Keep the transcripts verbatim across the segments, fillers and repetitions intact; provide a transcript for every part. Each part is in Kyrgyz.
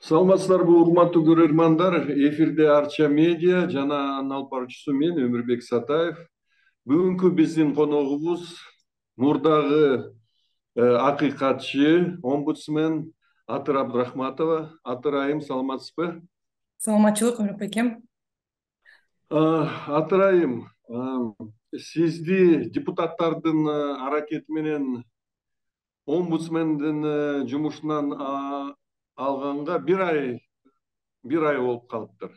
Саламатсыздарбы, урматтуу көрөрмандар. Эфирде Арча медиа жана анын алып баруучусу мен Өмүрбек Сатаев. Бүгүнкү биздин коногубуз мурдагы акыйкатчы, омбудсмен Атыр Абдрахматова. Атыр айым, саламатсызбы? Саламатчылык, Өмүрбек экем. Атыр айым, сизди депутаттардын аракети менен омбудсмендин жумушунан алганга бир ай бир ай болуп калыптыр.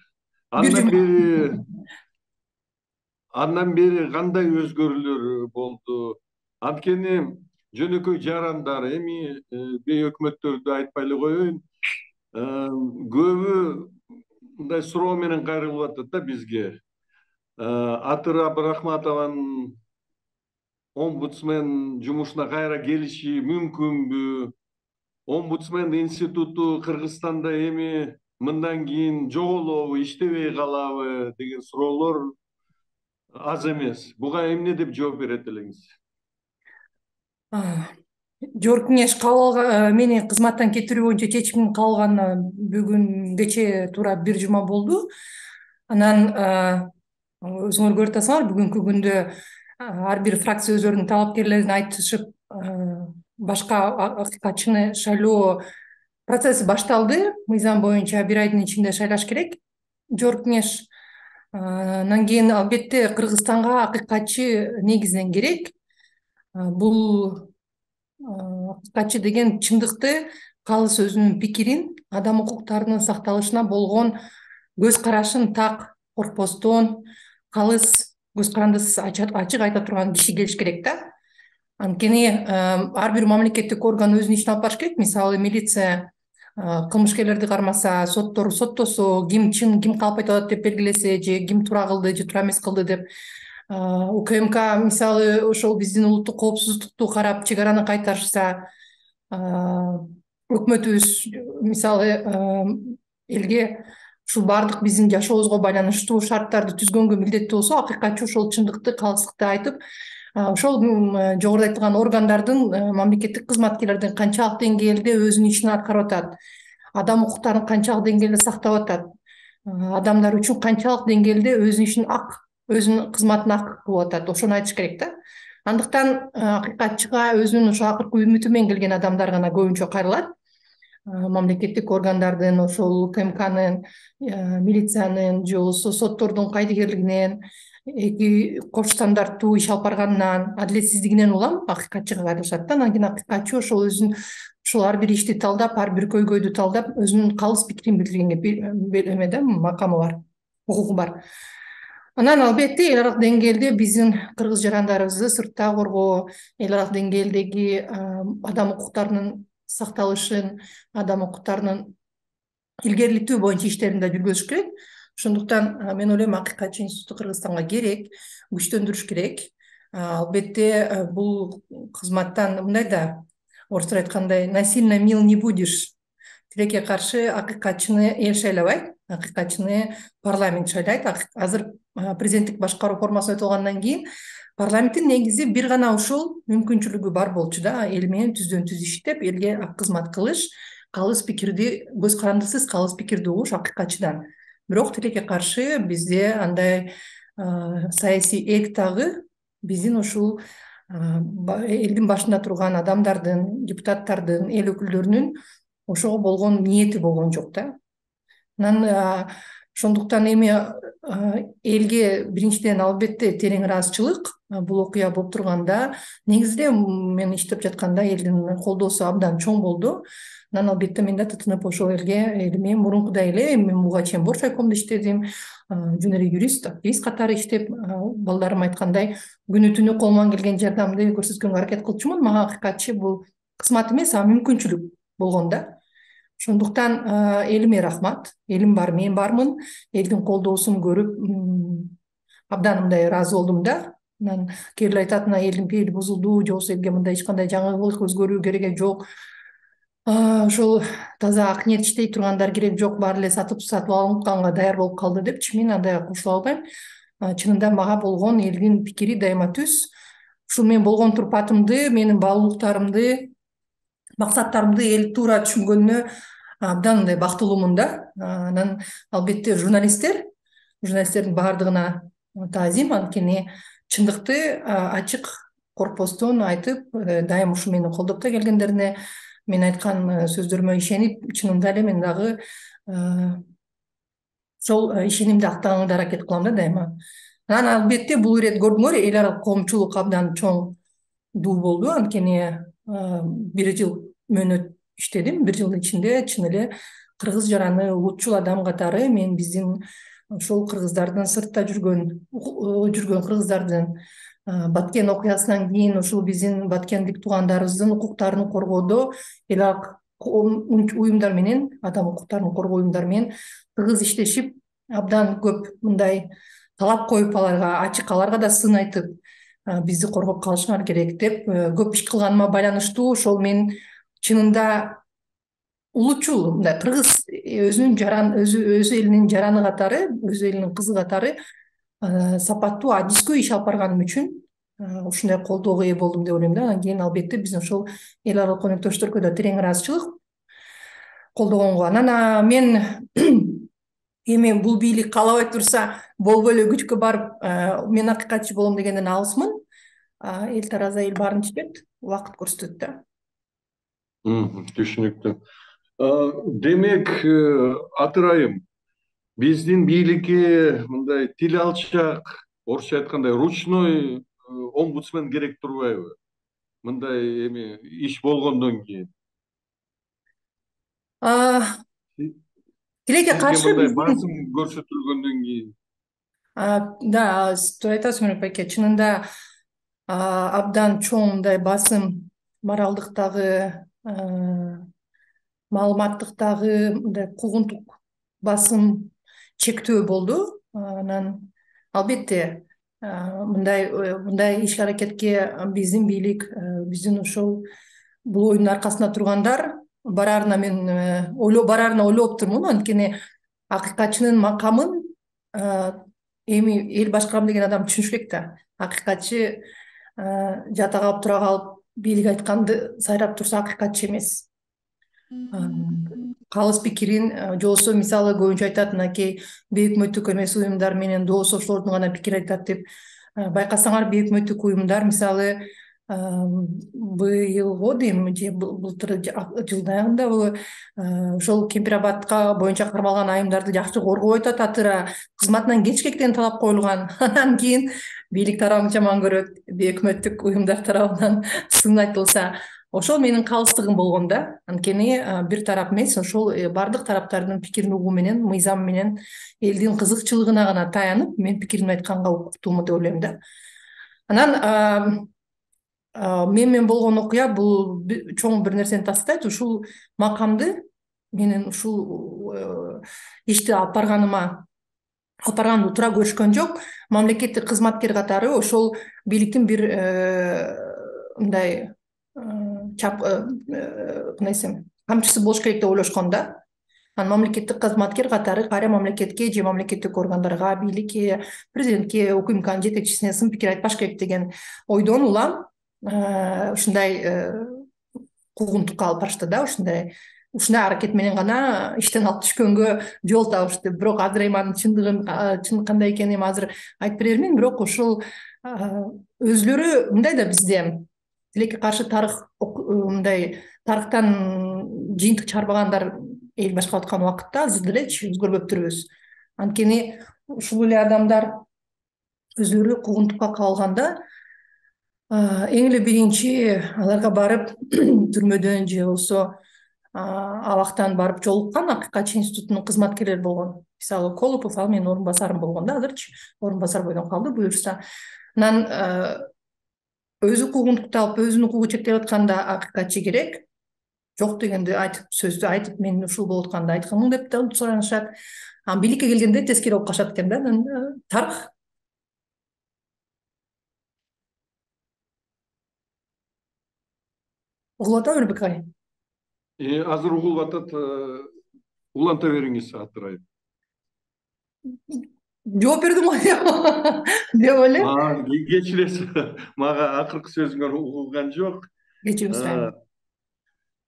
Бир Андан жума. бери андан бери кандай өзгөрүүлөр болду? Анткени жөнөкөй жарандар, эми бей өкмөттөрдү айтпай эле коеюн, көбү мындай суроо менен кайрылып атат да бизге. Атыр Абдрахматованын омбудсмен жумушуна кайра келиши мүмкүнбү? Омбудсмен институту Кыргызстанда эми мындан кийин жоголобу, иштебей калабы деген суроолор аз эмес. Буга эмне деп жооп берет элеңиз? Жогорку кеңеш кабыл алган, мени кызматтан кетирүү боюнча чечимин кабыл алганына бүгүн кече туура бир жума болду. Анан өзүңөр көрүп атасыңар, бүгүнкү күндө ар бир фракция өздөрүнүн талапкерлерин айтышып, башка акыйкатчыны шайлоо процесси башталды. Мыйзам боюнча бир айдын ичинде шайлаш керек жогорку кеңеш. Андан кийин албетте Кыргызстанга акыйкатчы негизинен керек. Бул акыйкатчы деген чындыкты, калыс өзүнүн пикирин, адам укуктарынын сакталышына болгон көз карашын так, коркпостон, калыс, көз карандысыз ачык айта турган киши келиш керек да. Анткени ар бир мамлекеттик орган өзүнүн ишин алып барыш керек. Мисалы, милиция кылмышкерлерди кармаса, соттор соттосо, ким чын, ким калп айтып атат деп белгилесе, же ким туура кылды, же туура эмес кылды деп. УКМК мисалы ошол биздин улуттук коопсуздукту карап чек араны кайтарышса, өкмөтүбүз мисалы элге ушул баардык биздин жашообузга байланыштуу шарттарды түзгөнгө милдеттүү болсо, акыйкатчы ошол чындыкты, калыстыкты айтып, ошол жогоруда айтылган органдардын, мамлекеттик кызматкерлердин канчалык деңгээлде өзүнүн ишин аткарып атат, адам укуктарын канчалык деңгээлде сактап атат, адамдар үчүн канчалык деңгээлде өзүнүн ишин ак, өзүнүн кызматын ак кылып атат, ошону айтыш керек да. Андыктан акыйкатчыга өзүнүн ошо акыркы үмүтү менен келген адамдар гана көбүнчө кайрылат. Мамлекеттик органдардын, ошол УКМКнын, милициянын же болбосо соттордун кайдыгерлигинен, эки кош стандарттуу иш алып барганынан, адилетсиздигинен улам акыйкатчыга кайрылышат да. Анан кийин акыйкатчы ошол өзүнүн ушул ар бир ишти талдап, ар бир көйгөйдү талдап, өзүнүн калыс пикирин билдиргенге эме да, макамы бар, укугу бар. Анан албетте эл аралык деңгээлде биздин кыргыз жарандарыбызды сыртта коргоо, эл аралык деңгээлдеги адам укуктарынын сакталышын, адам укуктарынын илгерилтүү боюнча иштерин да жүргүзүш керек. Ошондуктан мен ойлойм, акыйкатчы институту Кыргызстанга керек, күчтөндүрүш керек. Албетте бул кызматтан мындай да, орустар айткандай, насильно мил не будешь. Тилекке каршы акыйкатчыны эл шайлабайт, акыйкатчыны парламент шайлайт. Азыр президенттик башкаруу формасы өтүлгандан кийин парламенттин негизи бир гана ушул мүмкүнчүлүгү бар болчу да, эл менен түздөн түз иштеп, элге ак кызмат кылыш, калыс пикирди, көз карандысыз калыс пикирди угуш акыйкатчыдан. Бирок тилекке каршы бизде андай саясий эк дагы биздин ушул элдин башында турган адамдардын, депутаттардын, эл өкүлдөрүнүн ошого болгон ниети болгон жок да. Анан ошондуктан эми элге биринчиден албетте терең ыраазычылык, бул окуя болуп турганда, негизинде мен иштеп жатканда элдин колдоосу абдан чоң болду. Анан албетте мен да тытынып ошол элге, элиме мурункудай эле, мен буга чейин бош райкомдо иштедим, жөн эле юрист, активист катары иштеп, балдарым айткандай, күнү түнү колуман келген жардамды көрсөткөнгө аракет кылчумун. Мага акыйкатчы бул кызмат эмес, а мүмкүнчүлүк болгон да. Ошондуктан элиме рахмат, элим бар, мен бармын, элдин колдоосун көрүп абдан мындай ыраазы болдум да. Анан кээбир айтат, мына элдин пейили бузулду, же болбосо элге мындай эч кандай жаңылык, өзгөрүү кереги жок, ошол таза ак ниет иштей тургандар керек жок, баары эле сатып сатып алынганга даяр болуп калды депчи, мен андай кошула албайм. Чынында мага болгон элдин пикири дайыма түз. Ушул мен болгон турпатымды, менин баалуулуктарымды, максаттарымды эл туура түшүнгөнүнө абдан мындай бактылуумун да. Анан албетте журналисттер журналисттердин баардыгына таазим, анткени чындыкты ачык коркпостон айтып, дайым ушу мени колдоп да келгендерине, мен айткан сөздөрүмө ишенип, чынында эле мен дагы ошол ишенимди актаганга аракет кылам да дайыма. Анан албетте бул ирет көрдүңөр, эл аралык коомчулук абдан чоңдуу болду, анткени бир жыл мөөнөт иштедим. Бир жылдын ичинде чын эле кыргыз жараны улутчул адам катары мен биздин ошол кыргыздардын сыртта жүргөн жүргөн кыргыздардын Баткен окуясынан кийин ушул биздин баткендик туугандарыбыздын укуктарын коргоодо эл аралык уюмдар менен, адам укуктарын коргоо уюмдары менен тыгыз иштешип, абдан көп мындай талап коюп, аларга ачык, аларга да сын айтып, бизди коргоп калышыңар керек деп көп иш кылганыма байланыштуу ошол мен чынында улутчул мындай кыргыз өзүнүн жаран өзү өз элинин жараны катары, өз элинин кызы катары сапаттуу, адискүү иш алып барганым үчүн ушундай колдоого ээ болдум деп ойлойм да. Анан кийин албетте биздин ошол эл аралык өнөктөштөргө да терең ыраазычылык колдогонго. Анан мен эми бул бийлик каалабай турса болбой эле күчкө барып мен акыйкатчы болом дегенден алысмын. Эл тараза эл баарын түшүнөт, убакыт көрсөтөт да. Түшүнүктүү. Демек, Атырайым, биздин бийликке мындай тил алчак, орусча айткандай ручной омбудсмен керек турбайбы? Мындай эми иш болгондон кийин. Тилекке каршы мындай басым көрсөтүлгөндөн кийин. Да, туура айтасыз Мөрөк байке. Чынында абдан чоң мындай басым, моралдыктагы, маалыматтыктагы мындай куугунтук басым, чектөө болду. Анан албетте мындай мындай иш аракетке биздин бийлик, биздин ошол бул оюндун аркасында тургандар бараарына мен ойлоп бараарына ойлоп турмун, анткени акыйкатчынын макамын эми эл башкарам деген адам түшүнүш керек да. Акыйкатчы жата калып тура калып бийлик айтканды сайрап турса акыйкатчы эмес. Калыс пикирин же болбосо мисалы көбүнчө айтат, мынакей бейөкмөттүк эмес уюмдар менен дос ошолордун гана пикир айтат деп. Байкасаңар бейөкмөттүк уюмдар мисалы быйылго дейм же былтыр жылдын аягындабы ошол Кемпирабадка боюнча кармалган айымдарды жакшы коргоп атат, атыра кызматынан кетишке деген талап коюлган. Анан кийин бийлик тарабын жаман көрөт, бейөкмөттүк уюмдар тарабынан сын айтылса, ошол менин калыстыгым болгон да. Анткени бир тарап эмес, ошол бардык тараптардын пикирин угуу менен, мыйзам менен, элдин кызыкчылыгына гана таянып, мен пикиримди айтканга укуктуумун деп ойлойм да. Анан мен менен болгон окуя бул чоң бир нерсени тастайт. Ушул макамды менин ушул ишти алып барганыма алып барганымды туура көрүшкөн жок. Мамлекеттик кызматкер катары ошол бийликтин бир мындай чап кандай десем камчысы болуш керек деп ойлошкон да. Анан мамлекеттик кызматкер катары кайра мамлекетке же мамлекеттик органдарга, бийликке, президентке, УКМКнын жетекчисине сын пикир айтпаш керек деген ойдон улам ушундай куугунтукка алып барышты да. Ушундай ушундай аракет менен гана иштен алып түшкөнгө жол табышты. Бирок азыр эми анын чындыгын, чын кандай экенин азыр айтып бере бермейм. Бирок ушул өзүлөрү мындай да, бизде тилекке каршы тарых мындай тарыхтан жыйынтык чыгарбагандар эл башкарып аткан убакытта азыр делечи өзгөрбөптүрбүз. Анткени ушул эле адамдар өзүлөрү куугунтукка кабылганда эң эле биринчи аларга барып түрмөдөн же болбосо абактан барып жолуккан акыйкатчы институтунун кызматкерлери болгон. Мисалы Колупов ал менин орун басарым болгон да, азырчы орун басар бойдон калды буюрса. Анан өзү куугунтукту алып, өзүнүн укугу чектелип атканда акыйкатчы керек. Жок дегенди айтып, сөздү айтып, мен ушул болуп атканда айтканмын деп да суранышат. Анан бийликке келгенде тескери болуп калышат экен да. Анан тарых угулуп атабы Мөрөбек агай? Азыр угулуп атат. Уланта бериңиз, Атырайым. Жооп бердим го деп ойлойм. Кечиресиз, мага акыркы сөзүңөр угулган жок. Кечирим сурайм.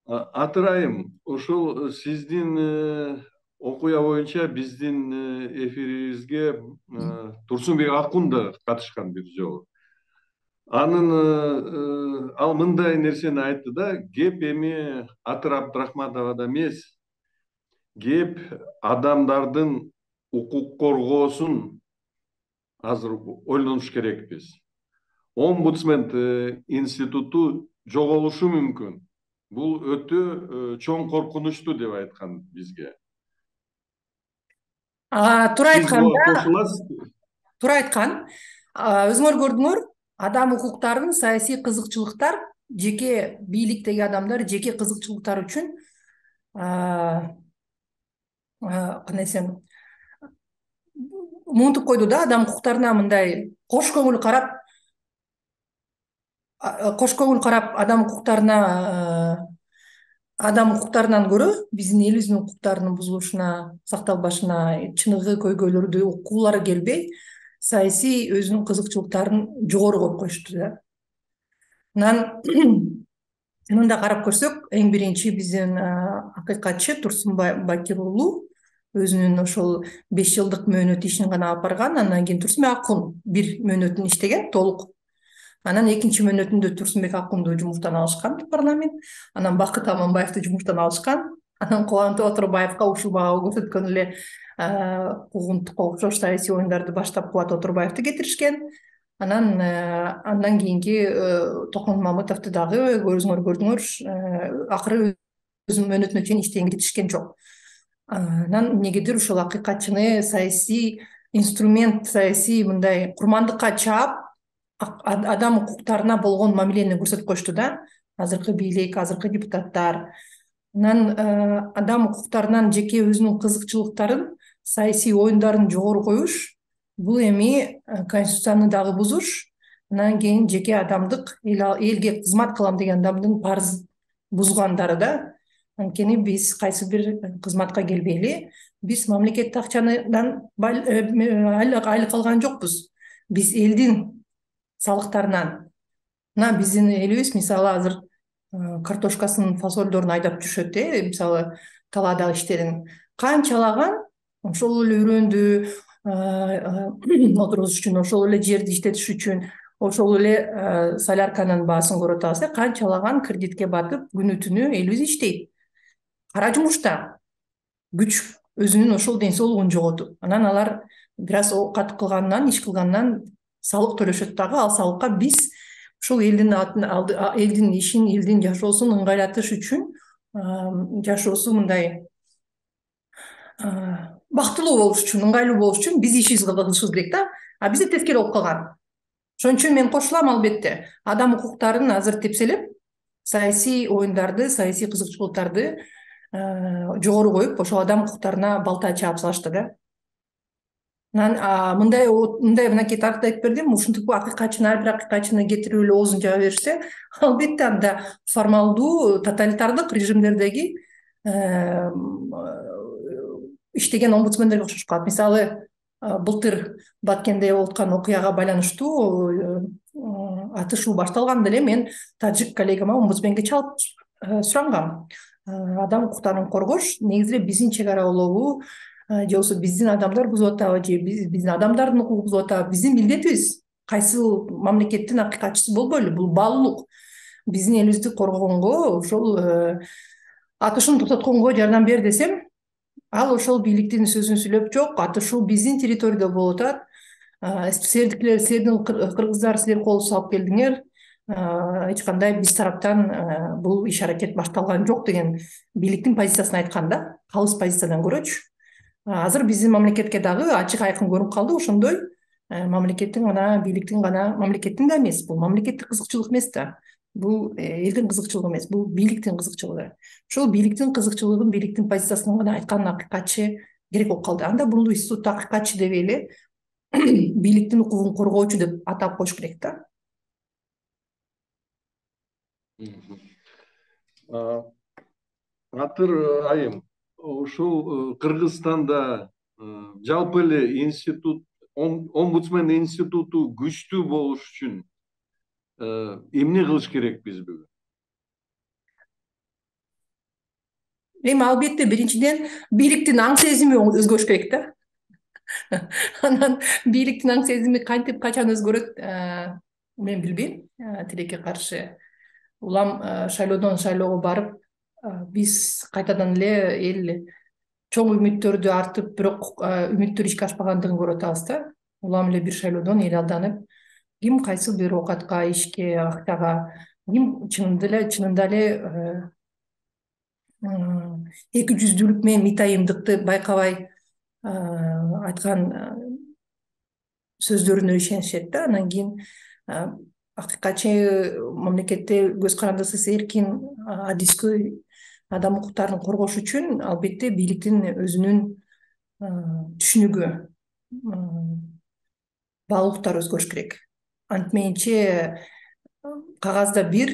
Атырайым, ошол сиздин окуя боюнча биздин эфирибизге Турсунбек Акун да катышкан бир жолу. Анын ал мындай нерсени айтты да, кеп эми Атыр Абдрахматовада эмес, кеп адамдардын укук коргоосун азыр ойлонуш керекпиз. Омбудсмен институту жоголушу мүмкүн. Бул өтө чоң коркунучтуу деп айткан бизге. Туура айткан да. Кошуласызбы? Туура айткан. Өзүңөр көрдүңөр, адам укуктарын саясий кызыкчылыктар, жеке бийликтеги адамдар жеке кызыкчылыктары үчүн кандай десем, мынтип койду да, адам укуктарына мындай кош көңүл карап, кош көңүл карап адам укуктарына адам укуктарынан көрө биздин элибиздин укуктарынын бузулушуна, сакталбашына чыныгы көйгөйлөрдү уккулары келбей, саясий өзүнүн кызыкчылыктарын жогору коюп коюшту да. Анан мындай карап көрсөк, эң биринчи биздин акыйкатчы Турсунбай Бакир уулу өзүнүн ошол беш жылдык мөөнөт ишин гана алып барган. Андан кийин Турсунбек Акун бир мөөнөтүн иштеген толук. Анан экинчи мөөнөтүндө Турсунбек Акунду жумуштан алышкан парламент. Анан Бакыт Аманбаевди жумуштан алышкан. Анан Кубанычбек Отурбаевга ушул бага көрсөткөн эле куугунтукка окшош саясий оюндарды баштап Кубат Отурбаевди кетиришкен. Анан андан кийинки Токмон Мамытовду дагы өзүңөр көрдүңөр, акыры өзүнүн мөөнөтүнө чейин иштегенге жетишкен жок. Анан эмнегедир ушул акыйкатчыны саясий инструмент, саясий мындай курмандыкка чаап, адам укуктарына болгон мамилени көрсөтүп коюшту да, азыркы бийлик, азыркы депутаттар. Анан адам укуктарынан жеке өзүнүн кызыкчылыктарын, саясий оюндарын жогору коюш, бул эми конституцияны дагы бузуш, анан кийин жеке адамдык, элге кызмат кылам деген адамдын парыз бузгандары да. Анткени биз кайсы бир кызматка келбейли, биз мамлекеттик акчадан айлык алган жокпуз. Биз элдин салыктарынан. Мына биздин элибиз мисалы азыр картошкасын, фасолдорун айдап жүрүшөт, э, мисалы талаадагы иштерин канчалаган ошол эле үрөндү отургузуш үчүн, ошол эле жерди иштетиш үчүн, ошол эле солярканын баасын көрүп атабыз, канчалаган кредитке батып күнү түнү элибиз иштейт. Кара жумушта күч өзүнүн ошол ден соолугун жоготуп, анан алар бир аз оокат кылганынан, иш кылганынан салык төлөшөт дагы. Ал салыкка биз ушул элдин элдин ишин, элдин жашоосун ыңгайлатыш үчүн, жашоосу мындай бактылуу болуш үчүн, ыңгайлуу болуш үчүн биз ишибизди кылышыбыз керек да. А бизде тескери болуп калган. Ошон үчүн мен кошулам, албетте. Адам укуктарын азыр тепселеп, саясий оюндарды, саясий кызыкчылыктарды жогору коюп, ошол адам укуктарына балта чаап салышты да. Анан мындай мындай мынакей тарыхты айтып бердим, ушинтип акыйкатчыны, ар бир акыйкатчыны кетирип эле оозун жаба беришсе, албетте анда формалдуу тоталитардык режимдердеги иштеген омбудсмендерге окшош калат. Мисалы, былтыр Баткенде болуп аткан окуяга байланыштуу атышуу башталганда эле мен тажик коллегама омбудсменге чалып сурангам. Адам укуктарын коргош негизи эле биздин чек ара улову, же болбосо биздин адамдар бузуп атабы, же биздин адамдардын укугу бузуп атабы, биздин милдетибиз. Кайсы мамлекеттин акыйкатчысы болбойлу, бул баалуулук. Биздин элибизди коргогонго, ошол атышууну токтотконго жардам бер десем, ал ошол бийликтин сөзүн сүйлөп, жок, атышуу биздин территорияда болуп атат, силердикилер, силердин кыргыздар, силер кол салып келдиңер, эч кандай биз тараптан бул иш аракет башталган жок деген бийликтин позициясын айткан да, калыс позициядан көрөчү. Азыр биздин мамлекетке дагы ачык айкын көрүнүп калды ошондой мамлекеттин гана, бийликтин гана, мамлекеттин да эмес, бул мамлекеттик кызыкчылык эмес да. Бул элдин кызыкчылыгы эмес, бул бийликтин кызыкчылыгы. Ошол бийликтин кызыкчылыгын, бийликтин позициясын гана айткан акыйкатчы керек болуп калды. Анда бул институтта акыйкатчы дебей эле бийликтин укугун коргоочу деп атап коюш керек да. Атыр айым, ушул Кыргызстанда жалпы эле институт, омбудсмен институту күчтүү болуш үчүн эмне кылыш керекпиз бүгүн? Эми албетте биринчиден бийликтин аң сезими өзгөрүш керек да. Анан бийликтин аң сезими кантип качан өзгөрөт, мен билбейм. Тилекке каршы улам шайлоодон шайлоого барып, биз кайтадан эле эл чоң үмүттөрдү артып, бирок үмүттөр ишке ашпагандыгын көрүп атабыз да. Улам эле бир шайлоодон эл алданып, ким кайсы бир оокатка, ишке, акчага, ким чынында эле чынында эле эки жүздүүлүк менен митайымдыкты байкабай айткан сөздөрүнө ишенишет да. Анан кийин акыйкатчы мамлекетте көз карандысыз эркин, адискөй адам укуктарын коргош үчүн албетте бийликтин өзүнүн түшүнүгү, баалуулуктары өзгөрүш керек. Антменче кагазда бир,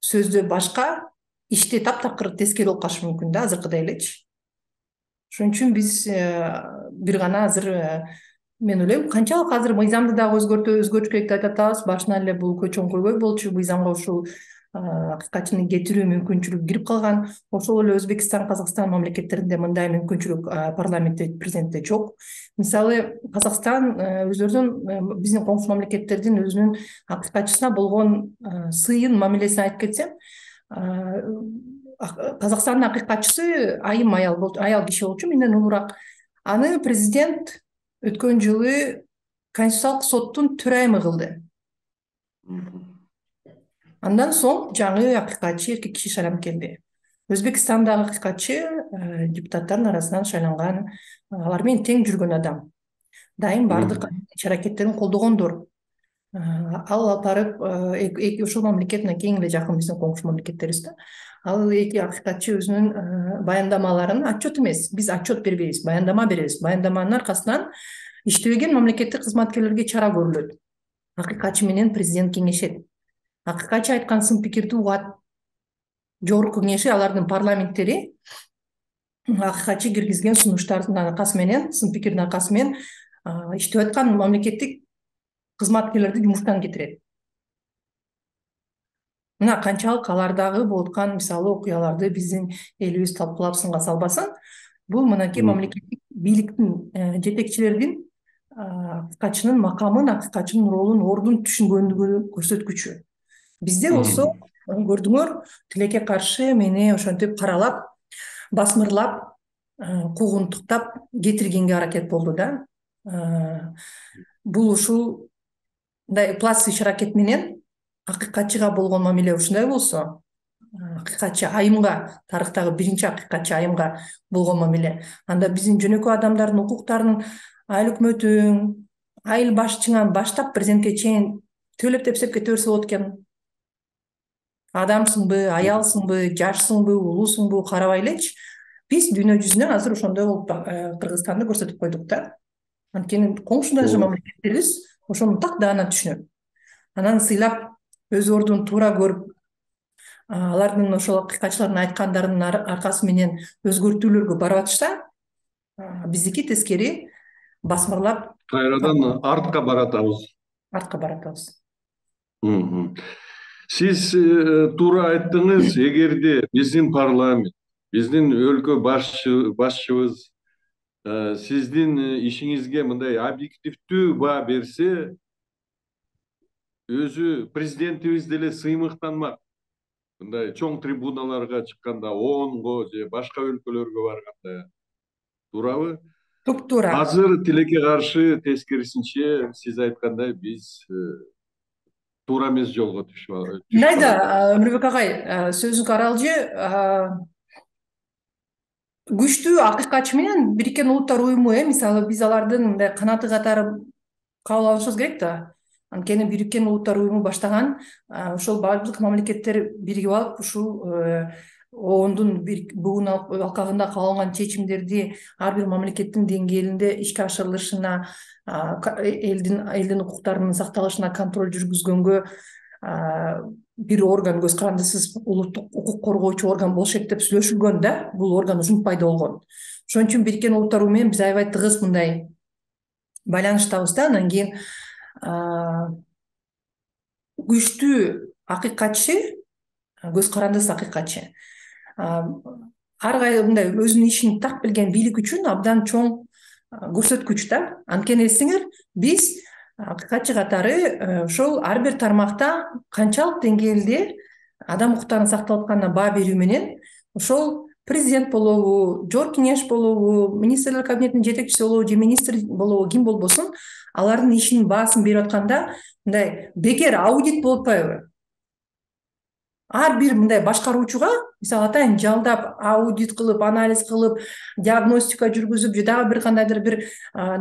сөздө башка, иште таптакыр тескери болуп калышы мүмкүн да, азыркыдай элечи. Ошон үчүн биз бир гана азыр, мен ойлойм, канчалык азыр мыйзамды дагы өзгөртө өзгөртүш керек деп айтып атабыз. Башынан эле бул чоң көйгөй болчу, мыйзамга ушул акыйкатчыны кетирүү мүмкүнчүлүгү кирип калган. Ошол эле Өзбекстан, Казакстан мамлекеттеринде мындай мүмкүнчүлүк парламентте, президентте жок. Мисалы, Казакстан өздөрүнүн, биздин коңшу мамлекеттердин өзүнүн акыйкатчысына болгон сыйын, мамилесин айтып кетсем, Казакстандын акыйкатчысы айым аял болчу, аял киши болчу, менден улураак. Аны президент өткөн жылы Конституциялык соттун төрайымы кылды. Андан соң жаңы акыйкатчы эркек киши шайланып келди. Өзбекстандагы акыйкатчы депутаттардын арасынан шайланган, алар менен тең жүргөн адам. Дайым бардык иш аракеттерин колдогондор. Ал алып барып, ошол мамлекет мына кең эле жакын биздин коңшу мамлекеттерибиз да. Ал эки акыйкатчы өзүнүн баяндамаларын, отчет эмес, биз отчет бербейбиз, баяндама беребиз. Баяндаманын аркасынан иштебеген мамлекеттик кызматкерлерге чара көрүлөт. Акыйкатчы менен президент кеңешет. Акыйкатчы айткан сын пикирди угат. Жогорку кеңеши, алардын парламенттери акыйкатчы киргизген сунуштардын аркасы менен, сын пикирдин аркасы менен иштеп аткан мамлекеттик кызматкерлерди жумуштан кетирет. Мына канчалык алардагы болуп аткан мисалы окуяларды биздин элибиз талкуулап сынга салбасын, бул мынакей мамлекеттик бийликтин, жетекчилердин акыйкатчынын макамын, акыйкатчынын ролун, ордун түшүнгөндүгүнүн көрсөткүчү. Бизде болсо, көрдүңөр, тилекке каршы мени ошентип каралап, басмырлап, куугунтуктап кетиргенге аракет болду да. Бул ушул пласт иш аракет менен акыйкатчыга болгон мамиле ушундай болсо, акыйкатчы айымга, тарыхтагы биринчи акыйкатчы айымга болгон мамиле, анда биздин жөнөкөй адамдардын укуктарын айыл өкмөтүң, айыл башчыңан баштап президентке чейин төлөп тепсеп кете берсе болот экен. Адамсыңбы, аялсыңбы, жашсыңбы, улуусуңбу карабай элечи. Биз дүйнө жүзүнөн азыр ошондой болуп Кыргызстанды көрсөтүп койдук да. Анткени коңшудаш мамлекеттерибиз ошону так даана түшүнөт. Анан сыйлап, өз ордун туура көрүп, алардын ошол акыйкатчылардын айткандарынын аркасы менен өзгөртүүлөргө барып атышса, биздики тескери басмырлап кайрадан артка баратабыз. Артка баратабыз. Сиз туура айттыңыз, эгерде биздин парламент, биздин өлкө башчыбыз сиздин ишиңизге мындай объективдүү баа берсе, өзү президентибиз деле сыймыктанмак. Мындай чоң трибуналарга чыкканда, ООНго же башка өлкөлөргө барганда. Туурабы? Туп-туура. Азыр тилекке каршы тескерисинче, сиз айткандай, биз туура эмес жолго түшүп атабыз. Мындайда, Өмүрбек агай, сөзүңүз аралжы, күчтүү акыйкатчы менен Бириккен Улуттар уюму, мисалы, биз алардын мындай канаты катары кабыл алышыбыз керек да. Анткени Бириккен Улуттар уюму баштаган, ошол бардык мамлекеттер биригип алып, ушул оондун бугун алкагында кабыл алынган чечимдерди ар бир мамлекеттин деңгээлинде ишке ашырылышына, элдин элдин укуктарынын сакталышына контроль жүргүзгөнгө бир орган, көз карандысыз улуттук укук коргоочу орган болушет деп сүйлөшүлгөн да. Бул орган ушинтип пайда болгон. Ошон үчүн Бириккен Улуттар уюму менен биз аябай тыгыз мындай байланыштабыз да. Анан кийин күчтүү акыйкатчы, көз карандысыз акыйкатчы, ар кайсы мындай өзүнүн ишин так билген бийлик үчүн абдан чоң көрсөткүч да. Анткени эсиңер, биз акыйкатчы катары ошол ар бир тармакта канчалык деңгээлде адам укуктарынын сакталып атканына баа берүү менен ошол президент болобу, жогорку кеңеш болобу, министрлер кабинетинин жетекчиси болобу же министр болобу, ким болбосун, алардын ишинин баасын берип атканда мындай бекер аудит болуп атпайбы? Ар бир мындай башкаруучуга, мисалы атайын, жалдап аудит кылып, анализ кылып, диагностика жүргүзүп же дагы бир кандайдыр бир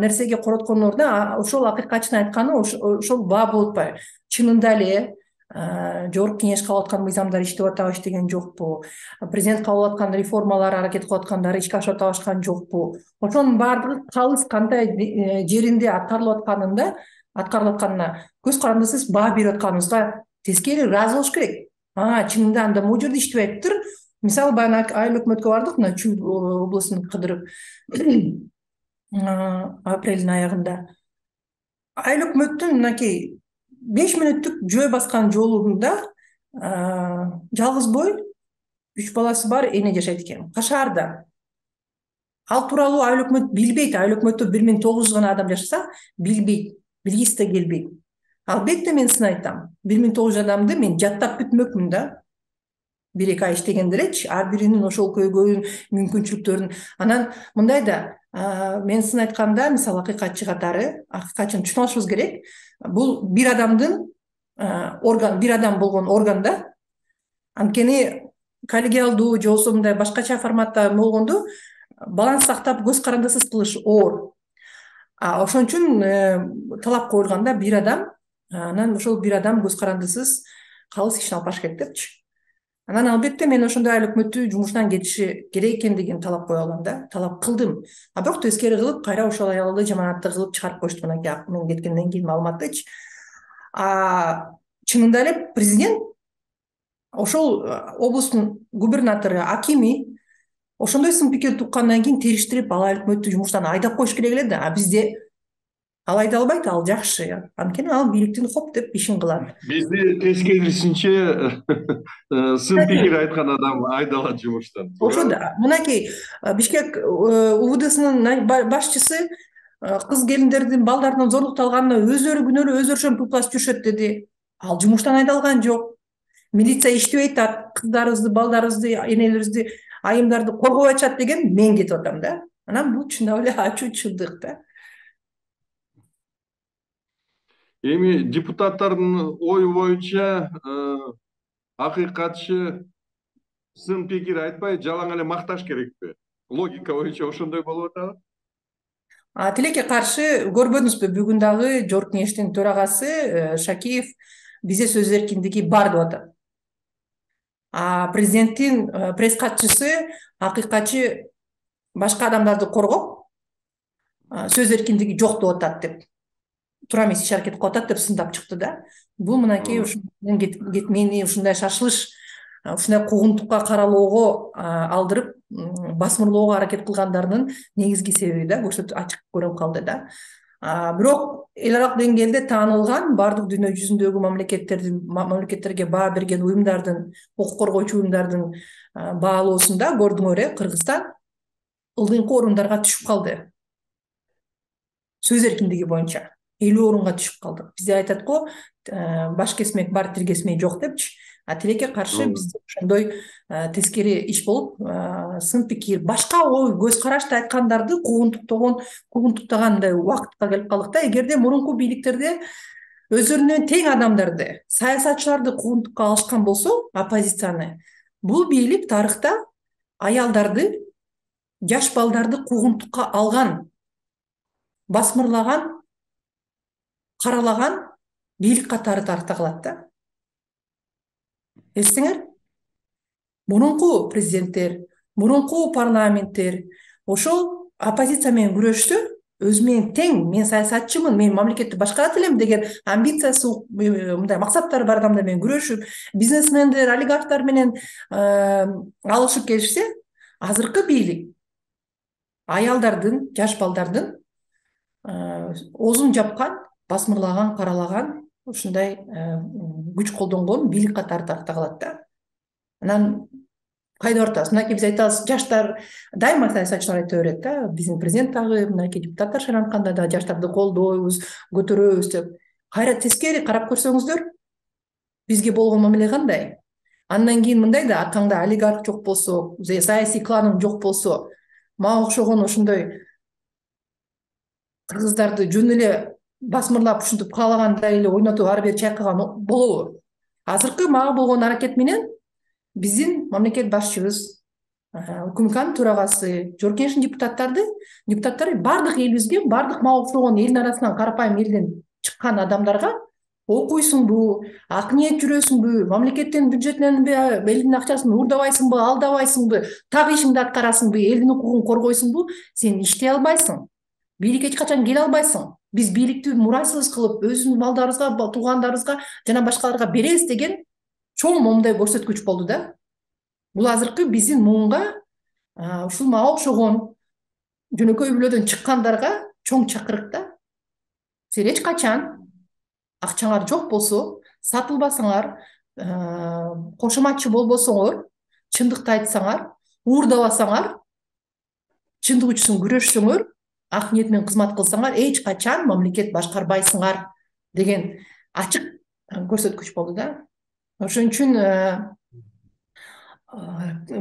нерсеге короткондон ордуна ошол акыйкатчынын айтканы ошол баа болуп атпайбы? Чынында эле жогорку кеңеш кабыл аткан мыйзамдар иштеп атабы, иштеген жокпу? Президент кабыл аткан реформалар аракет кылып аткандары ишке ашып атабашкан жокпу? Ошонун баардыгы калыс кандай жеринде аткарылып атканында, аткарылып атканына көз карандысыз баа берип атканыбызга тескери ыраазы болуш керек. А, чынында анда могу жерде иштебей атыптыр. Мисалы баягы айыл өкмөткө бардык, мына Чүй областын кыдырып апрелдин аягында. Айыл өкмөттүн мынакей беш мүнөттүк жөө баскан жолунда жалгыз бой үч баласы бар эне жашайт экен, Кашаарда. Ал тууралуу айыл өкмөт билбейт. Айыл өкмөттө бир миң тогуз жүз гана адам жашаса, билбейт, билгиси да келбейт. Албетте мен сын айтам. бир миң тогуз жүз адамды мен жаттап бүтмөкмүн да. Бир эки ай иштеген делечи, ар биринин ошол көйгөйүн, мүмкүнчүлүктөрүн. Анан мындай да, мен сын айтканда, мисалы акыйкатчы катары, акыйкатчыны түшүнүп алышыбыз керек. Бул бир адамдын орган, бир адам болгон органда. Анткени коллегиалдуу же болбосо мындай башкача форматта болгондо баланс сактап көз карандысыз кылыш оор. А ошон үчүн талап коюлганда бир адам, анан ошол бир адам көз карандысыз калыс ишин алып барыш керек депчи. Анан албетте мен ошондой айыл өкмөттү жумушунан кетиши керек экендигин талап кое алам да, талап кылдым. А бирок тескери кылып, кайра ошол аялды жаманатты кылып чыгарып коюшту мынакей мен кеткенден кийин маалыматтычы. А чынында эле президент ошол облустун губернатору, акими ошондой сын пикирди уккандан кийин териштирип ал айыл өкмөттү жумуштан айдап коюш керек эле да. А бизде ал айда албайт, ал жакшы. Анткени ал бийликтин хоп деп ишин кылат. Бизде тескерисинче сын пикир айткан адам айдалат жумуштан. Ошо да. Мынакей Бишкек УВДсынын башчысы кыз келиндердин балдарынан зорлукталганына өздөрү күнөөлүү, өздөрү ошентип упласып жүрүшөт деди. Ал жумуштан айдалган жок. Милиция иштебей атат, кыздарыбызды, балдарыбызды, энелерибизди, айымдарды коргобой атышат деген мен кетип атам да. Анан бул чындап эле ачуучулдук да. Эми депутаттардын ою боюнча акыйкатчы сын пикир айтпай жалаң эле макташ керекпи? Логика боюнча ошондой болуп атабы? Тилекке каршы көрбөдүңүзбү, бүгүн дагы жогорку кеңештин төрагасы Шакиев бизде сөз эркиндиги бар деп атат. А президенттин пресс катчысы акыйкатчы башка адамдарды коргоп сөз эркиндиги жок деп атат деп. Туура эмес иш аракет кылып атат деп сындап чыкты да. Бул мынакей мени ушундай шашылыш, ушундай куугунтукка каралоого алдырып, басмырлоого аракет кылгандарынын негизги себеби да, көрсөтүп ачык көрүнүп калды да. Бирок эл аралык деңгээлде таанылган бардык дүйнө жүзүндөгү мамлекеттердин мамлекеттерге баа берген уюмдардын, укук коргоочу уюмдардын баалоосунда көрдүңөр э, Кыргызстан ылдыйкы орундарга түшүп калды. Сөз эркиндиги боюнча элүү орунга түшүп калдык. Бизде айтат го, баш кесмек бар, тил кесмек жок депчи. А тилекке каршы бизде ошондой тескери иш болуп, сын пикир, башка ой, көз карашты айткандарды куугунтуктаган, куугунтуктагандай убакытка келип калдык да. Эгерде мурунку бийликтерде өздөрүнө тең адамдарды, саясатчыларды куугунтукка алышкан болсо, оппозицияны, бул бийлик тарыхта аялдарды, жаш балдарды куугунтукка алган, басмырлаган, каралаган бийлик катары тарыхта калат да. Эстеңер? Мурунку президенттер, мурунку парламенттер ошол оппозиция менен күрөштү, өзү менен тең, мен саясатчымын, мен мамлекетти башкарат элем деген амбициясы, мындай максаттары бар адамдар менен күрөшүп, бизнесмендер, олигархтар менен алышып келишсе, азыркы бийлик аялдардын, жаш балдардын оозун жапкан, басмырлаган, каралаган, ушундай күч колдонгон бийлик катары тарыхта калат да. Анан кайда баратабыз? Мынакей биз айтабыз, жаштар дайыма саясатчылар айта берет да, биздин президент дагы, мынакей депутаттар шайлантканда да жаштарды колдойбуз, көтөрөбүз деп. Кайра тескери карап көрсөңүздөр, бизге болгон мамиле кандай? Андан кийин мындай да, аркаңда олигарх жок болсо, саясий кланың жок болсо, мага окшогон ошондой кыргыздарды жөн эле басмырлап ушинтип каалагандай эле ойнотуп ары бери чайкаган болобу? Азыркы мага болгон аракет менен биздин мамлекет башчыбыз, УКМКнын төрагасы, Жогорку Кеңештин депутаттарды, депутаттары бардык элибизге, бардык мага окшогон элдин арасынан, карапайым элден чыккан адамдарга окуйсуңбу, ак ниет жүрөсүңбү, мамлекеттин бюджетинен элдин акчасын уурдабайсыңбы, алдабайсыңбы, так ишиңди аткарасыңбы, элдин укугун коргойсуңбу, сен иштей албайсың. Бийликке эч качан келе албайсың. Биз бийликти мурайсыз кылып, өзүбүздүн балдарыбызга, туугандарыбызга жана башкаларга беребиз деген чоң момундай көрсөткүч болду да. Бул азыркы биздин муунга ушул мага окшогон жөнөкөй үйлөрдөн чыккандарга чоң чакырык да. Сен эч качан акчаңар жок болсо, сатылбасаңар, кошоматчы болбосоңор, чындыкты айтсаңар, уурдабасаңар, чындык үчүн күрөшсөңөр, ак ниет менен кызмат кылсаңар, эч качан мамлекет башкарбайсыңар деген ачык көрсөткүч болду да. Ошон үчүн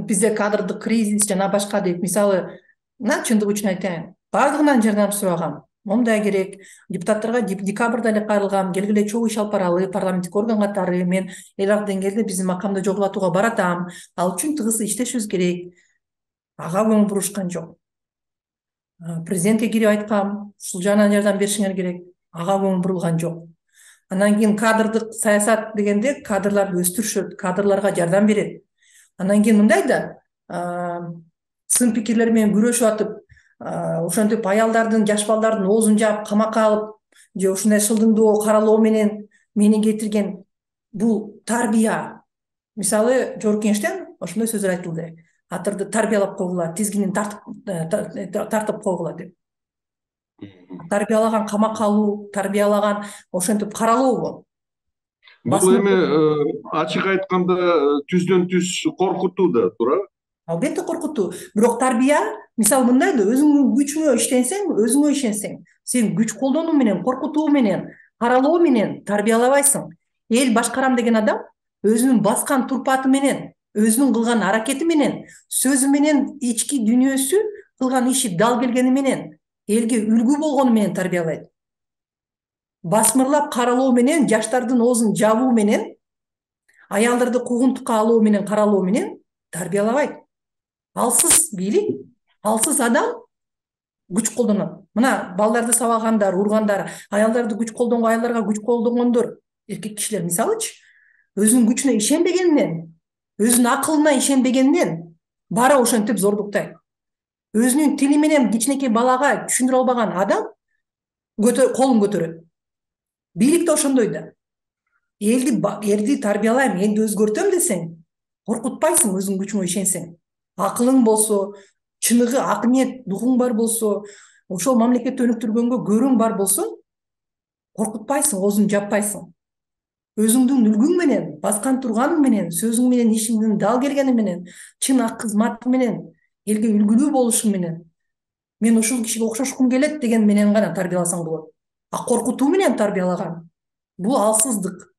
бизде кадрдык кризис жана башка деп, мисалы, мына чындык үчүн айтайын, бардыгынан жардам сурагам. Мондай керек, депутаттарга декабрда эле кайрылгам, келгиле чогуу иш алып баралы, парламенттик орган катары, мен эл аралык деңгээлде биздин макамды жогорулатууга баратам, ал үчүн тыгыз иштешибиз керек. Ага көңүл бурушкан жок. Президентке кирип айткам, ушул жагынан жардам беришиңер керек, ага көңүл бурулган жок. Андан кийин кадрдык саясат дегенде кадрларды өстүрүшөт, кадрларга жардам берет. Андан кийин мындай да, сын пикирлер менен күрөшүп атып, ошентип аялдардын, жаш балдардын оозун жаап, камакка алып, же ушундай шылдыңдоо, каралоо менен мени кетирген бул тарбия. Мисалы, Жогорку Кеңештен ошондой сөздөр айтылды. Атырды тарбиялап койгула, тизгинин тартып тартып койгула деп. Тарбиялаган камакка алуу, тарбиялаган ошентип каралообу? Бул эми ачык айтканда түздөн түз коркутуу да туурабы? Албетте коркутуу. Бирок тарбия, мисалы мындай да, өзүңдүн күчүңө иштенсең, өзүңө ишенсең, сен күч колдонуу менен, коркутуу менен, каралоо менен тарбиялабайсың. Эл башкарам деген адам өзүнүн баскан турпаты менен, өзүнүн кылган аракети менен, сөзү менен, ички дүйнөсү, кылган иши дал келгени менен, элге үлгү болгону менен тарбиялайт. Басмырлап каралоо менен, жаштардын оозун жабуу менен, аялдарды куугунтукка алуу менен, каралоо менен тарбиялабайт. Алсыз бийлик, алсыз адам күч колдонот. Мына балдарды сабагандар, ургандар, аялдарды күч колдонгон, аялдарга күч колдонгондор, эркек кишилер мисалычы, өзүнүн күчүнө ишенбегенинен, өзүнүн акылына ишенбегенинен бара ошентип зордуктайт. Өзүнүн тили менен кичинекей балага түшүндүрө албаган адам колун көтөрөт. Бийлик да ошондой да. Элди элди тарбиялайм, элди өзгөртөм десең, коркутпайсың өзүнүн күчүңө ишенсең. Акылың болсо, чыныгы ак ниет, дугуң бар болсо, ошол мамлекетти өнүктүргөнгө көрүң бар болсо, коркутпайсың, оозуңду жаппайсың. Өзүңдүн үлгүң менен, баскан турганың менен, сөзүң менен, ишиңдин дал келгени менен, чын ак кызмат менен, элге үлгүлүү болушуң менен, мен ушул кишиге окшошкум келет деген менен гана тарбияласаң болот. А коркутуу менен тарбиялаган бул алсыздык.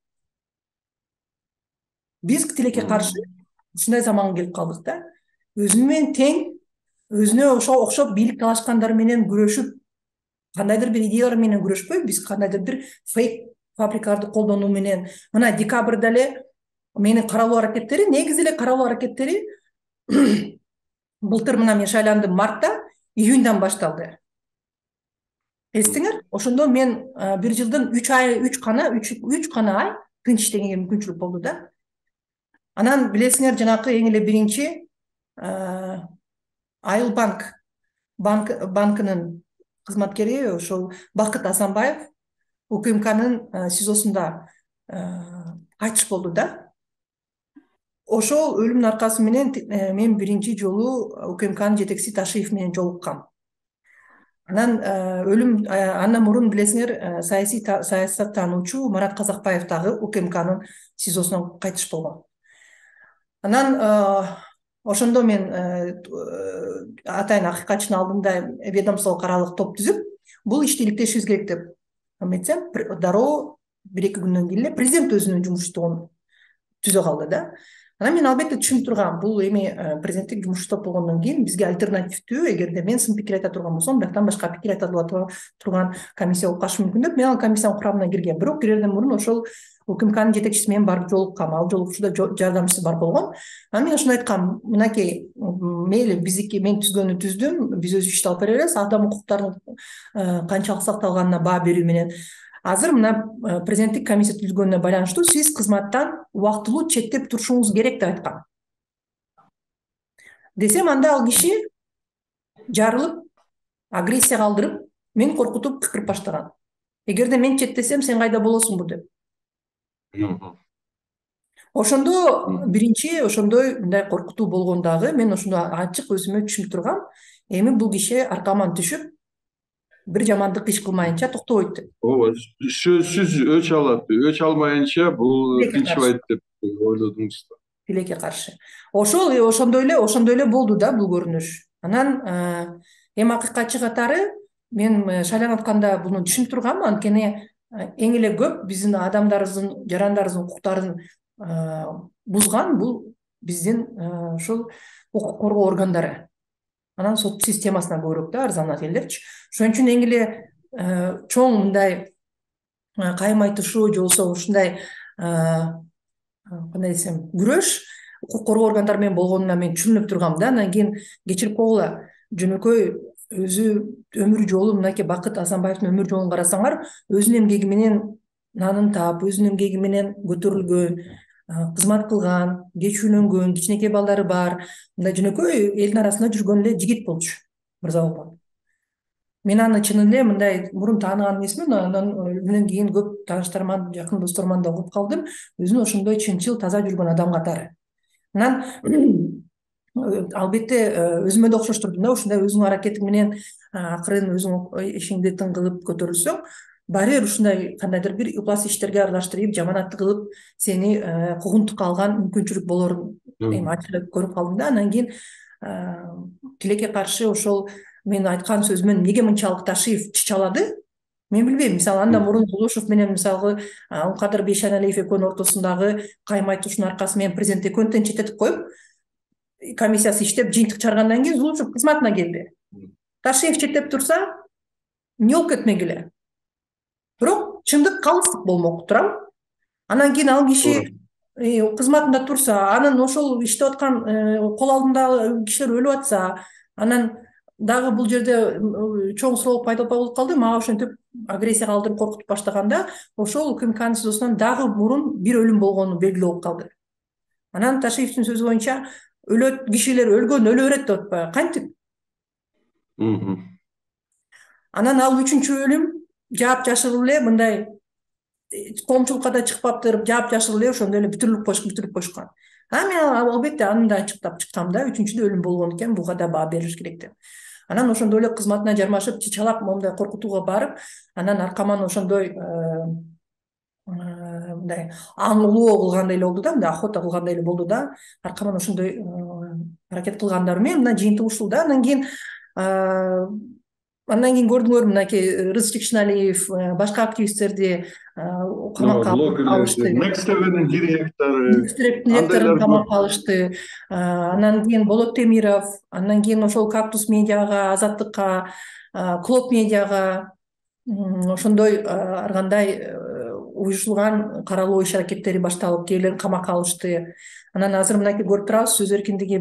Биз тилекке каршы ушундай заманга келип калдык да. Өзүнүн менен тең, өзүнө окшоп бийлик талашкандар менен күрөшүп, кандайдыр бир идеялар менен күрөшпөй, биз кандайдыр бир фейк фабрикаларды колдонуу менен, мына декабрда эле менин каралуу аракеттери, негизи эле каралуу аракеттери былтыр мына мен шайландым мартта, июньдан башталды. Эстиңер, ошондо мен бир жылдын үч ай, үч гана, үч гана ай тынч иштегенге мүмкүнчүлүк болду да. Анан билесиңер, жанакы эң эле биринчи Айыл банк банкынын кызматкери ошол Бакыт Асанбаев УКМКнын СИЗОсунда кайтыш болду да. Ошол өлүмдүн аркасы менен мен биринчи жолу УКМКнын жетекчиси Ташиев менен жолуккам. Анан өлүм андан мурун билесиңер, саясий саясаттануучу Марат Казакбаев дагы УКМКнын СИЗОсунан кайтыш болгон. Анан ошондо мен атайын акыйкатчынын алдында ведомстволук аралык топ түзүп бул ишти иликтешибиз керек деп эметсем, дароо бир эки күндөн кийин эле президент өзүнүн жумуштугун түзө калды да. Анан мен албетте түшүнүп тургам, бул эми президенттик жумуш топ болгондон кийин бизге альтернативдүү, эгерде мен сын пикир айта турган болсом, бияктан башка пикир айта турган комиссия болуп калышы мүмкүн деп мен ал комиссиянын курамына киргем. Бирок кирерден мурун ошол УКМКнын жетекчиси менен барып жолуккам, ал жолугушууда жардамчысы бар болгон. Анан мен ошондо айткам, мынакей, мейли биздики мен түзгөнү түздүм, биз өз ишти алып бера беребиз, адам укуктарынын канчалык сакталганына баа берүү менен. Азыр мына президенттик комиссия түзүлгөнүнө байланыштуу сиз кызматтан убактылуу четтеп турушуңуз керек деп айткан. Десем, анда ал киши жарылып, агрессия калтырып, мени коркутуп кыкырып баштаган. Эгерде мен четтесем, сен кайда болосуңбу деп. Ошондо биринчи ошондой мындай коркутуу болгон дагы мен ошондо ачык өзүмө түшүнүп тургам, эми бул киши аркаман түшүп, бир жамандык иш кылмайынча токтобойт деп. Ооба, сөзсүз өч алат. Өч алмайынча бул тынчыбайт деп ойлодуңуз да. Тилекке каршы. Ошол ошондой эле, ошондой эле болду да бул көрүнүш. Анан эми акыйкатчы катары мен шайланып буну түшүнүп тургам, анткени эң эле көп биздин адамдарыбыздын, жарандарыбыздын укуктарын бузган бул биздин ушул укук коргоо органдары. Анан сот системасына көбүрөөк да арзанат элдерчи. Ошон үчүн эң эле чоң мындай кайым айтышуу же болбосо ушундай кандай десем, күрөш укук коргоо органдары менен болгонуна мен түшүнүп тургам да. Анан кийин кечирип койгула, жөнөкөй өзү өмүр жолу, мынакей Бакыт Асанбаевдин өмүр жолун карасаңар, өзүнүн эмгеги менен нанын таап, өзүнүн эмгеги менен көтөрүлгөн, кызмат кылган, кеч үйлөнгөн, кичинекей балдары бар, мындай жөнөкөй элдин арасында жүргөн эле жигит болчу Мырза Улан. Мен аны чын эле мындай мурун тааныган эмесмин, анан өлүмүнөн кийин көп тааныштарыман, жакын досторуман да угуп калдым, өзүн ошондой чынчыл, таза жүргөн адам катары. Анан албетте өзүмө да окшоштурдум да, ушундай өзүңүн аракетиң менен акырын өзүң ишиңди тың кылып көтөрүлсөң, баары бир ушундай кандайдыр бир ыплас иштерге аралаштырып, жаманатты кылып, сени куугунтукка алган мүмкүнчүлүк болорун эми ачык көрүп калдым да. Анан кийин тилекке каршы ошол мен айткан сөзүмө эмне мынчалык Ташиев чычалады, мен билбейм. Мисалы, андан мурун Зулушев менен мисалы Кадыр Бейшеналиев экөөнүн ортосундагы кайым айтышуунун аркасы менен президент экөөнү четтетип коюп, комиссиясы иштеп, жыйынтык чыгаргандан кийин Зулушев кызматына келди. Ташиев четтеп турса, эмне болуп кетмегиле. Бирок чындык калыстык болмок турам. Анан кийин ал киши кызматында турса, анын ошол иштеп аткан кол алдындагы кишилер өлүп атса, анан дагы бул жерде чоң суроо пайда болуп калды. Мага ошентип агрессия калтырып коркутуп баштаганда, ошол УКМКнын СИЗОсунан дагы мурун бир өлүм болгону белгилүү болуп калды. Анан Ташиевдин сөзү боюнча өлөт кишилер өлгөн өлө берет деп атпайбы, кантип? Анан ал үчүнчү өлүм жаап жашырып эле мындай коомчулукка да чыкпаптыр, жаап жашырып эле ошондой эле бүтүрүлүп коюш бүтүрүп коюшкан. А мен албетте аны да ачыктап чыктым да, үчүнчүдө өлүм болгон экен, буга да баа берилиш керек деп. Анан ошондой эле кызматына жармашып, чычалап, моундай коркутууга барып, анан аркаман ошондой мындай аңлоо кылгандай эле болду да, мындай охота кылгандай эле болду да. Аркаман ошондой аракет кылгандары менен мына жыйынтык ушул да. Анан кийин Андан кийин көрдүңөр, мынакей Рызык Жекшеналиев, башка активисттерди камакка алышты. Next TV'нин директору, директорун камакка алышты. Анан кийин Болот Темиров, андан кийин ошол Кактус медиага, Азаттыкка, Клоп медиага ошондой ар кандай уюшулган каралуу иш аракеттери башталып, кээрлерин камакка алышты. Анан азыр мынакей көрүп турабыз, сөз эркиндиги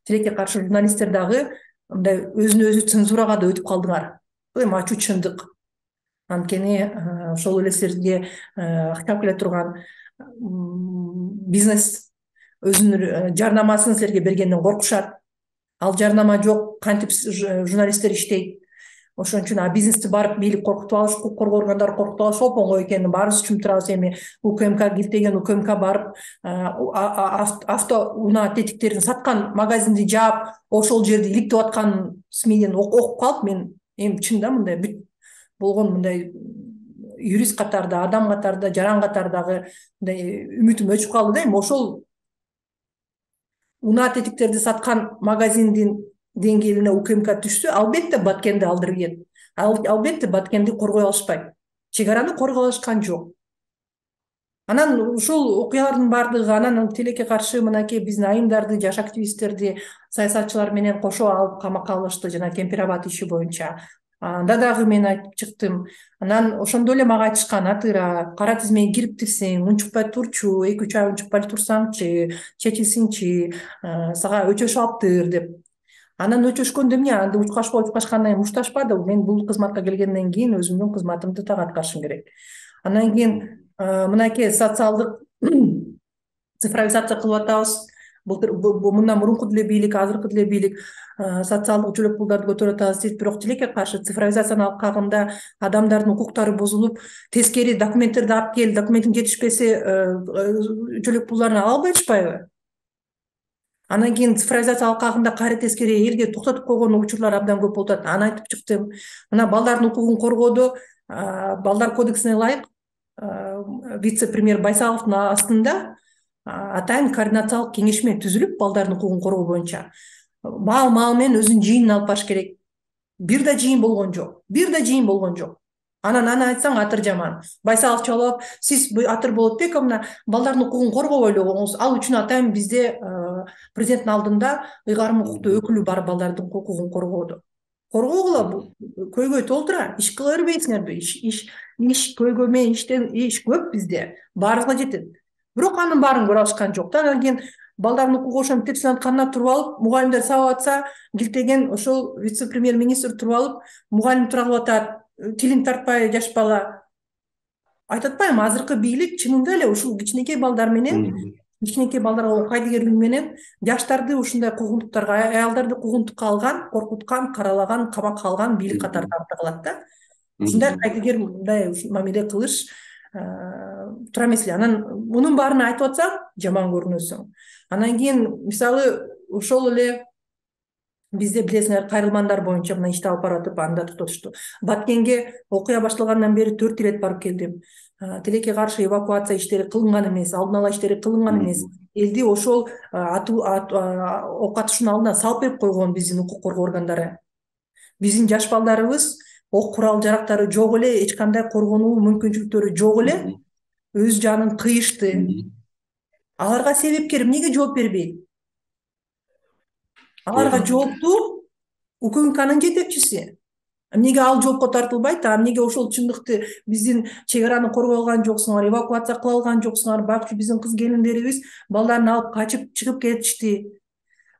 тилекке каршы журналисттер дагы мындай өзүнө өзү цензурага да өтүп калдыңар. Бул эми ачуу чындык. Анткени ошол эле силерге актап келе турган бизнес өзүнүн жарнамасын силерге бергенден коркушат. Ал жарнама жок, кантип журналисттер иштейт. Ошон үчүн а бизнести барып бийлик коркутуп алыш, укук коргоо органдары коркутуп алыш оңой экенин баарыбыз түшүнүп турабыз. Эми УКМК килтеген, УКМК барып авто унаа тетиктерин саткан магазинди жаап, ошол жерди иликтеп аткан СМИден окуп калып, мен эми чын да мындай бүт болгон мындай юрист катарда, адам катарда, жаран катардагы мындай үмүтүм өчүп калды да. Эми ошол унаа тетиктерди саткан магазиндин деңгээлине УКМК түшсө, албетте Баткенди алдырген. Албетте Баткенди коргой алышпайт. Чек араны коргой алышкан жок. Анан ушул окуялардын баардыгы анан тилекке каршы мынакей биздин айымдарды, жаш активисттерди, саясатчылар менен кошо алып камакка алышты жана Кемпир-Абад иши боюнча. Анда дагы мен айтып чыктым. Анан ошондо эле мага айтышкан: Атыра, кара тизмеге кириптирсиң, унчукпай турчу, эки үч ай унчукпай турсаңчы, чечилсиңчи, сага өчөшүп алыптыр деп. Анан өчөшкөндө эмне? Анда учкашпа учкашкандан кийин мушташпады. Мен бул кызматка келгенден кийин өзүмдүн кызматымды так аткарышым керек. Андан кийин мынакей социалдык цифровизация кылып атабыз. Былтыр мындан мурунку деле бийлик, азыркы деле бийлик социалдык жөлөк пулдарды көтөрүп атабыз дейт, бирок тилекке каршы цифровизацияны алып калганда адамдардын укуктары бузулуп, тескери документтерди алып кел, документтин жетишпесе жөлөк пулдарын ала албай атышпайбы? Андан кийин цифровизация алып калганда кайра тескери элге токтотуп койгон учурлар абдан көп болуп атат. Аны айтып чыктым. Мына балдардын укугун коргоодо балдар кодексине ылайык вице-премьер Байсаловдун астында атайын координациялык кеңешме түзүлүп, балдардын укугун коргоо боюнча маал маал менен өзүнүн жыйынын алып барыш керек. Бир да жыйын болгон жок. Бир да жыйын болгон жок. Анан аны айтсаң атыр жаман. Байсалов чалып, сиз атыр болот бек, мына балдардын укугун коргобой эле, ал үчүн атайын бизде президенттин алдында ыйгарым укуктуу өкүлү бар балдардын укугун коргоодо. Коргогула, көйгөй толтура, иш кыла бербейсиңерби? Иш иш көйгөй менен иштен иш көп бизде. Баарыгына жетет. Бирок анын баарын көрө алышкан жок да. Анан кийин балдардын укугу ошентип тепсиланып канына туруп алып, мугалимдер сабап атса, килтеген ошол вице-премьер министр туруп алып, мугалим тура кылып атат, тилин тартпай жаш бала. Айтып атпаймынбы, азыркы бийлик чынында эле ушул кичинекей балдар менен, кичинекей балдарга кайдыгерлик менен жаштарды ушундай куугунтуктарга, аялдарды куугунтукка алган, коркуткан, каралаган, камакка алган бийлик катарында калат да. Ушундай кайдыгер мындай мамиле кылыш туура эмес эле. Анан мунун баарын айтып атсаң, жаман көрүнөсүң. Анан кийин мисалы ошол эле бизде билесиңер кайрылмандар боюнча мына ишти алып барып атып, анда токтотушту. Баткенге окуя башталгандан бери төрт ирет барып келдим. Тилекке каршы эвакуация иштери кылынган эмес, алдын ала иштери кылынган эмес. Элди ошол окко атышуунун алдына салып берип койгон биздин укук коргоо органдары. Биздин жаш балдарыбыз ок курал жарактары жок эле, эч кандай коргонуу мүмкүнчүлүктөрү жок эле, өз жанын кыйышты. Аларга себепкер эмнеге жооп бербейт? Аларга жооптуу УКМКнын жетекчиси. Эмнеге ал жоопко тартылбайт? А эмнеге ошол чындыкты биздин чек араны коргой алган жоксуңар, эвакуация кыла алган жоксуңар? Байкуш биздин кыз келиндерибиз балдарын алып качып чыгып кетишти.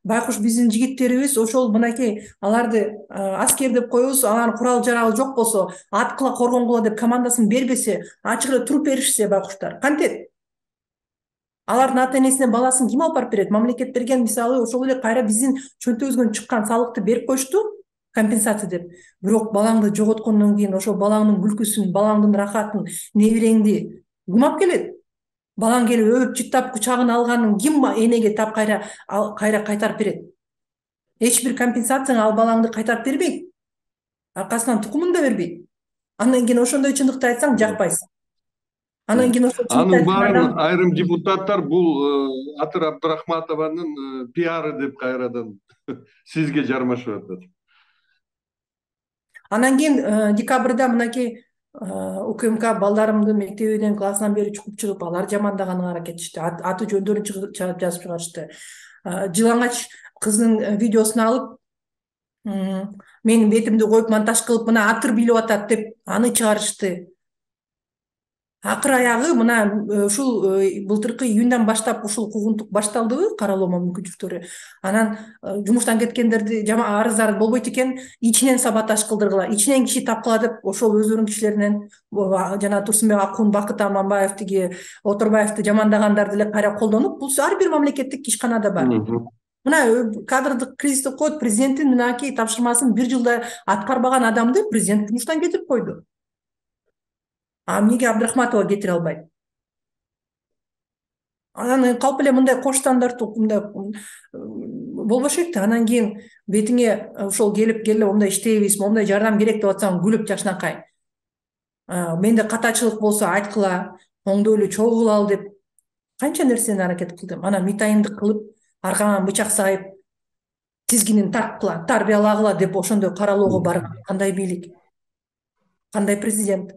Байкуш биздин жигиттерибиз ошол мынакей аларды аскер деп коебуз, алардын курал жарагы жок болсо, аткыла коргонгула деп командасын бербесе, ачык эле туруп беришсе байкуштар кантет? Алардын ата энесине баласын ким алып барып берет? Мамлекет берген, мисалы ошол эле кайра биздин чөнтөгүбүздөн чыккан салыкты берип коюшту, компенсация деп. Бирок балаңды жоготкондон кийин ошол балаңдын күлкүсүн, балаңдын рахатын, небереңди ким алып келет? Балаң келип өбүп жыттап кучагына алганын ким энеге тап кайра кайра кайтарып берет? Эч бир компенсацияны ал балаңды кайтарып бербейт. Аркасынан тукумун да бербейт. Андан кийин ошондой чындыкты айтсаң жакпайсың. Анан кийин ошол анын баарын айрым депутаттар бул Атыр Абдырахматованын пиары деп кайрадан сизге жармашып атат. Анан кийин декабрда мынакей УКМК балдарымды мектебинен классынан бери чукуп чыгып, алар жамандаганга аракетчишти. Аты жөндөрүн чыгып жазып чыгарышты. Жылаңач кыздын видеосун алып, менин бетимди коюп монтаж кылып, мына Атыр билип атат деп аны чыгарышты. Акыр аягы мына ушул былтыркы июндан баштап ушул куугунтук башталдыбы, каралоо мүмкүнчүлүктөрү. Анан жумуштан кеткендерди жама арыздар болбойт экен, ичинен саботаж кылдыргыла, ичинен киши тапкыла деп ошол өздөрүнүн кишилеринен жана Турсунбек Акун, Бакыт Аманбаев, тиги Оторбаевди жамандагандарды эле кайра колдонуп, бул ар бир мамлекеттик ишканада бар. Мына кадрдык кризис деп коет, президенттин мынакей тапшырмасын бир жылда аткарбаган адамды президент жумуштан кетирип койду. А эмнеге Абдрахматова кетире албайт? Анан калп эле мындай кош стандарттуу мындай болбош керек да. Анан кийин бетиңе ошол келип келе момундай иштейбиз, момундай жардам керек деп атсаң күлүп жакшынакай. Менде катачылык болсо айткыла, оңдойлуу чогуу кылалы деп канча нерсени аракет кылдым. Анан митайымды кылып, аркаңан бычак сайып тизгинин тарткыла, тарбиялагыла деп ошондой каралоого барган кандай бийлик, кандай президент,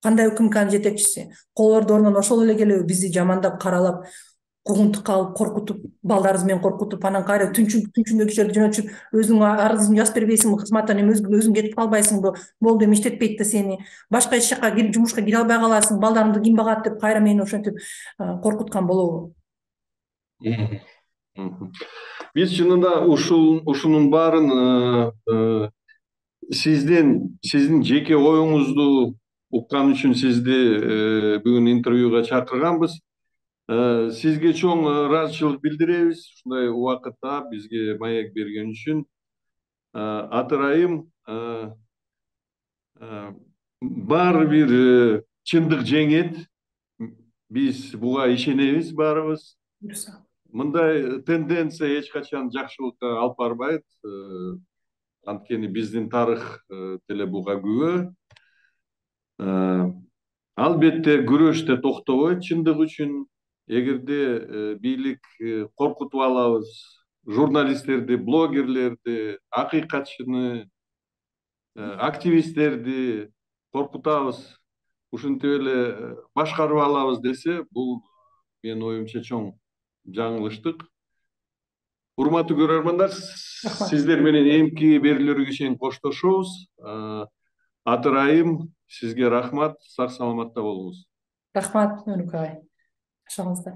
кандай УКМКнын жетекчиси кол бордорунан ошол эле келеби бизди жамандап каралап, куугунтукка алып коркутуп, балдарыбыз менен коркутуп, анан кайра түнчүндө кишилерди жөнөтүшүп, өзүңүн арызыңды жазып бербейсиңби, кызматтан эми өзүң кетип калбайсыңбы, болду эми иштетпейт да сени, башка эч жака жумушка кире албай каласың, балдарыңды ким багат деп кайра мени ошентип коркуткан болобу? Биз чынында ушул ушунун баарын сизден сиздин жеке оюңузду уккан үчүн сизди бүгүн интервьюга чакырганбыз. Сизге чоң ыраазычылык билдиребиз ушундай убакытта бизге маек берген үчүн. Аты ырайым баары бир чындык жеңет. Биз буга ишенебиз баарыбыз. Мындай тенденция эч качан жакшылыкка алып барбайт. Анткени биздин тарых деле буга күбө. Албетте күрөш да токтобойт чындык үчүн. Эгерде бийлик коркутуп алабыз, журналисттерди, блогерлерди, акыйкатчыны, активисттерди коркутабыз, ушинтип эле башкарып алабыз десе, бул менин оюмча чоң жаңылыштык. Урматтуу көрөрмандар, сиздер менен эмки берүүлөргө чейин коштошобуз. Аты ырайым, сизге рахмат, сак саламатта болуңуз. Рахмат, Өнүк агай. Жашаңыздар.